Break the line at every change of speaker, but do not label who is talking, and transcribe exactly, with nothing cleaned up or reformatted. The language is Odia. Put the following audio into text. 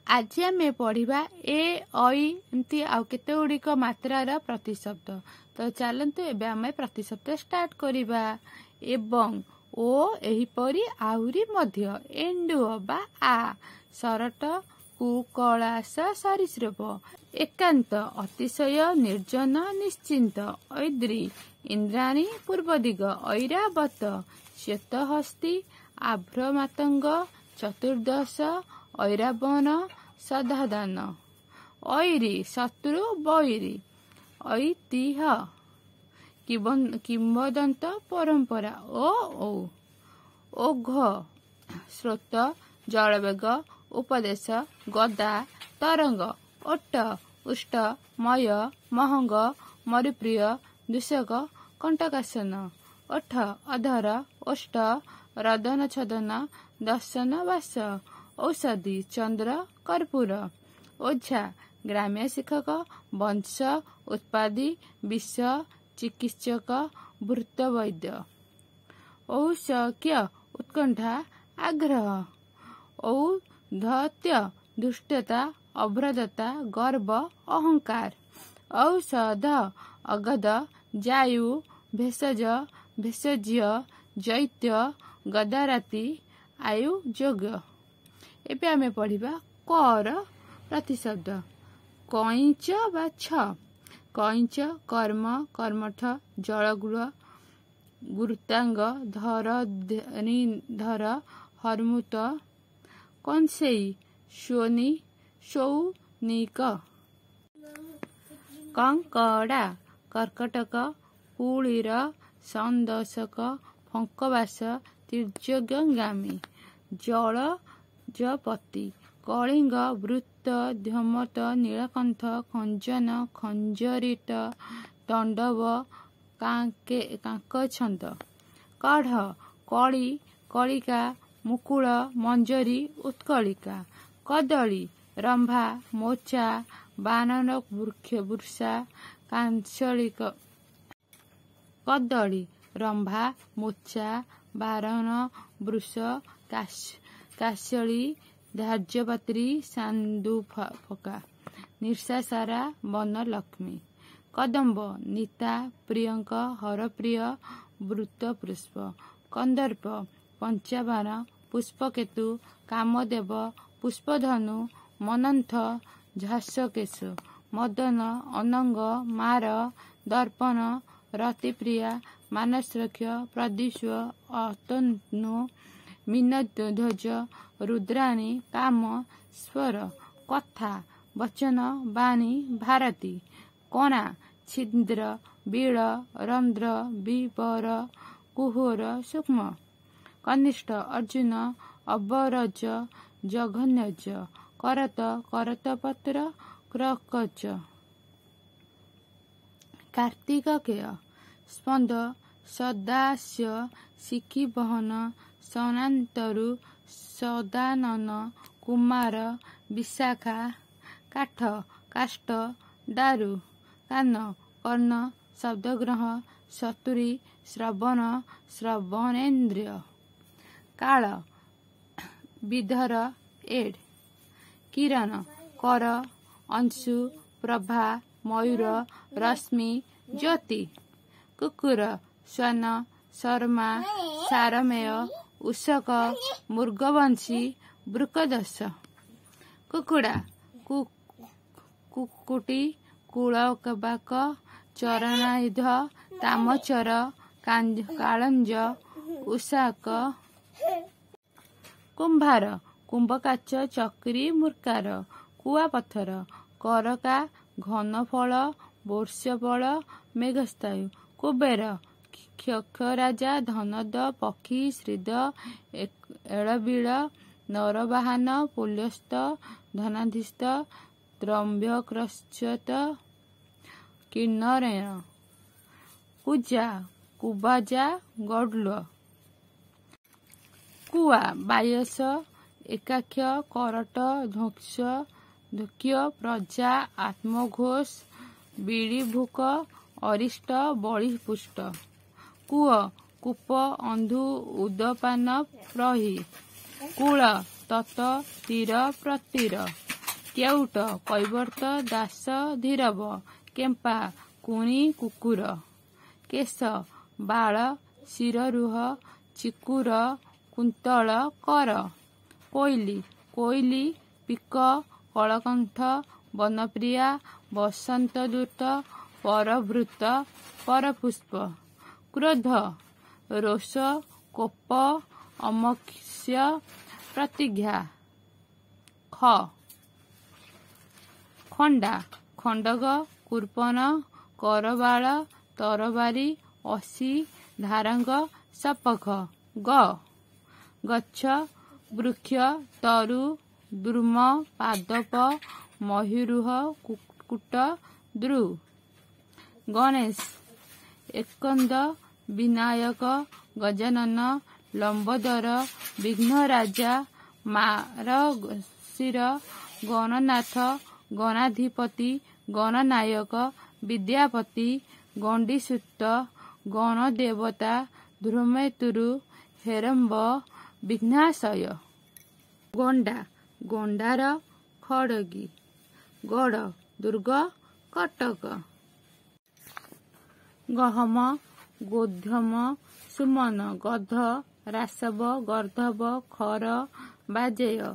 ଆଜି ଆମେ ପଢ଼ିବା ଏ, ଐ ଏମିତି ଆଉ କେତେ ଗୁଡ଼ିକ ମାତ୍ରାର ପ୍ରତିଶବ୍ଦ। ତ ଚାଲନ୍ତୁ, ଏବେ ଆମେ ପ୍ରତିଶବ୍ଦ ଷ୍ଟାର୍ଟ କରିବା। ଏବଂ, ଓ, ଏହିପରି, ଆହୁରି ମଧ୍ୟ, ଏଣ୍ଡୁଅ ବା ଆ, ସରଟ, କୁକଳାସ, ସରୀସୃପ, ଏକାନ୍ତ, ଅତିଶୟ, ନିର୍ଜନ, ନିଶ୍ଚିନ୍ତ, ଐଦ୍ରୀ, ଇନ୍ଦ୍ରାଣୀ, ପୂର୍ବଦିଗ, ଐରାବତ, ଶ୍ୱେତହସ୍ତୀ, ଆଭ୍ରମାତଙ୍ଗ, ଚତୁର୍ଦ୍ଦଶ, ଐରାବଣ, ସଦାଧାନ, ଐରି, ଶତ୍ରୁ, ବୈରୀ, ଐତିହ୍ୟ, କିମ୍ବଦନ୍ତ, ପରମ୍ପରା, ଓ ଔ, ଓଘ, ସ୍ରୋତ, ଜଳବେଗ, ଉପଦେଶ, ଗଦା, ତରଙ୍ଗ, ଓଟ, ଉଷ୍ଟ, ମୟ, ମହଙ୍ଗ, ମରୁପ୍ରିୟ, ଦୂଷକ, କଣ୍ଟକାସନ, ଓଠ, ଅଧର, ଓଷ୍ଠ, ରଦନ, ଛଦନ, ଦର୍ଶନ, ବାସ, ଔଷଧି, ଚନ୍ଦ୍ର, କର୍ପୂର, ଓଝା, ଗ୍ରାମ୍ୟ ଶିକ୍ଷକ, ବଂଶ, ଉତ୍ପାଦୀ, ବିଷ, ଚିକିତ୍ସକ, ଭୂତବୈଦ୍ୟ, ଔଷକ୍ୟ, ଉତ୍କଣ୍ଠା, ଆଗ୍ରହ, ଔଦ୍ଧତ୍ୟ, ଧୃଷ୍ଟତା, ଅଭଦ୍ରତା, ଗର୍ବ, ଅହଙ୍କାର, ଔଷଧ, ଅଗଦ, ଜାୟୁ, ଭେଷଜ, ଭେଷଜ୍ୟ, ଜୈତ୍ୟ, ଗଦାରାତି, ଆୟୁଯୋଗ। ଏବେ ଆମେ ପଢ଼ିବା କର ପ୍ରତିଶବ୍ଦ। କଇଁଚ ବା ଛ, କଇଁଚ, କର୍ମ, କର୍ମଠ, ଜଳଗୃହ, ଗୁରୁତ୍ୱାଙ୍ଗ, ଧର, ଧର, ହର୍ମୁତ, କଂସେଇ, ସ୍ୱନି, ସୌନିକ, କଙ୍କଡ଼ା, କର୍କଟକ, କୁଳୀର, ସନ୍ଦୋଷକ, ଫଙ୍କବାସ, ତୀର୍ଯ୍ୟଗାମୀ, ଜଳଜପତି, କଳିଙ୍ଗ, ବୃତ୍ତ, ଧୂମତ, ନୀଳକଣ୍ଠ, ଖଞ୍ଜନ, ଖଞ୍ଜରିତ, ତଣ୍ଡବ, କାଙ୍କଛନ୍ଦ, କଢ଼, କଳି, କଳିକା, ମୁକୁଳ, ମଞ୍ଜରୀ, ଉତ୍କଳିକା, କଦଳୀ, ରମ୍ଭା, ମୋଚା, ବାନନ, ବୃଷା, କାଂଶଳିକ, କଦଳୀ, ରମ୍ଭା, ମୋଚା, ବାରନ, ବୃଷ, କାଶଳୀ, ଧାର୍ଯ୍ୟପାତ୍ରୀ, ସାନ୍ଦୁଫକା, ନିଶାସାରା, ବନଲକ୍ଷ୍ମୀ, କଦମ୍ବ, ନିତା, ପ୍ରିୟଙ୍କ, ହରପ୍ରିୟ, ବୃତ୍ତପୁଷ୍ପ, କନ୍ଦର୍ପ, ପଞ୍ଚାବାଣ, ପୁଷ୍ପକେତୁ, କାମଦେବ, ପୁଷ୍ପଧନୁ, ମନ୍ମଥ, ଝାସକେଶ, ମଦନ, ଅନଙ୍ଗ, ମାର, ଦର୍ପଣ, ରତିପ୍ରିୟା, ମାନସରକ୍ଷ, ପ୍ରଦ୍ୟୁଷ, ଅତନୁ, ମୀନଧ୍ୱଜ, ରୁଦ୍ରାଣୀ, କାମ, ସ୍ୱର, କଥା, ବଚନ, ବାଣୀ, ଭାରତୀ, କଣା, ଛିଦ୍ର, ବିଳ, ରନ୍ଧ୍ର, ବିବର, କୁହର, ସୂକ୍ଷ୍ମ, କନିଷ୍ଠ, ଅର୍ଜୁନ, ଅବରଜ, ଜଘନ୍ୟଜ, କରତ, କରତପତ୍ର, କ୍ରକଚ, କାର୍ତ୍ତିକେୟ, ସ୍ପନ୍ଦ, ସଦାସ୍ୟ, ଶିଖିବହନ, ସନାନ୍ତରୁ, ସଦାନନ, କୁମାର, ବିଶାଖା, କାଠ, କାଷ୍ଠ, ଦାରୁ, କାନ, କର୍ଣ୍ଣ, ଶବ୍ଦଗ୍ରହ, ସତୁରୀ, ଶ୍ରବଣ, ଶ୍ରବଣେନ୍ଦ୍ରିୟ, କାଳ, ବିଧର, ଏଡ୍, କିରଣ, କର, ଅଂଶୁ, ପ୍ରଭା, ମୟୂର, ରଶ୍ମି, ଜ୍ୟୋତି, କୁକୁର, ଶ୍ୱାନ, ଶର୍ମା, ସାରମେୟ, ଉଷକ, ମୃଗବଂଶୀ, ବୃକଦୋଷ, କୁକୁଡ଼ା, କୁକ୍କୁଟି, କୁଳବାକ, ଚରଣାୟୁଧ, ତାମଚର, କାଳଞ୍ଜ, ଉଷାକ, କୁମ୍ଭାର, କୁମ୍ଭକାଚ, ଚକ୍ରୀ, ମୂର୍କାର, କୁଆପଥର, କରକା, ଘନଫଳ, ବର୍ଷଫଳ, ମେଘସ୍ଥାୟୁ, କୁବେର, କ୍ଷକ୍ଷରାଜା, ଧନଦ, ପକ୍ଷୀ, ଶ୍ରୀଦ, ଏଳବିଳ, ନରବାହନ, ପୁଲସ୍ତ, ଧନାଧୀଶ, ତ୍ରମ୍ବକଶ୍ଚତ, କିନ୍ନରେଣ, କୁଜା, କୁବାଜା, ଗଡ୍ଲ, କୁଆ, ବାୟସ, ଏକାକ୍ଷ, କରଟ, ଧ୍ୱଂସ, ଧୁକ୍ୟ, ପ୍ରଜା, ଆତ୍ମଘୋଷ, ବିଳିଭୁକ, ଅରିଷ୍ଟ, ବଳିପୁଷ୍ଟ, କୂଅ, କୂପ, ଅନ୍ଧୁ, ଉଦପାନ, ପ୍ରହି, କୂଳ, ତତ, ତୀର, ପ୍ରତୀର, କେଉଟ କୈବର୍ତ୍ତ ଦାସ ଧୀରବ। କେମ୍ପା କୁଣି କୁକୁର। କେଶ ବାଳ ଶିରରୁହ ଚିକୁର କୁନ୍ତଳ କର। କୋଇଲି କୋଇଲି ପିକ କଳକଣ୍ଠ ବନପ୍ରିୟା ବସନ୍ତଦୂତ ପରଭୃତ ପରପୁଷ୍ପ। କ୍ରୋଧ ରୋଷ କୋପ ଅମକ୍ଷ୍ୟ ପ୍ରତିଜ୍ଞା। ଖ ଖଣ୍ଡା ଖଣ୍ଡଗ କୃପଣ କରବାଳ ତରବାରୀ ଅସି ଧାରଙ୍ଗ ସପଖ। ଗ ଗଛ ବୃକ୍ଷ ତରୁ ଦ୍ରୁମ ପାଦପ ମହୀରୁହ କୂଟ ଦ୍ରୁ। ଗଣେଶ ଏକନ୍ଦ ବିନାୟକ ଗଜାନନ ଲମ୍ବୋଦର ବିଘ୍ନରାଜା ମାରଗଶିର ଗଣନାଥ ଗଣାଧିପତି ଗଣନାୟକ ବିଦ୍ୟାପତି ଗଣ୍ଡିସୂତ ଗଣଦେବତା ଧୂମକେତୁ ହେରମ୍ବ ବିଘ୍ନାଶୟ। ଗଣ୍ଡା ଗଣ୍ଡାର ଖଡ଼ଗୀ। ଗଡ଼ ଦୁର୍ଗ କଟକ। ଗହମ ଗୋଧୂମ ସୁମନ। ଗଧ ରାସବ ଗର୍ଦ୍ଦଭ ଖର ବାଜେୟ।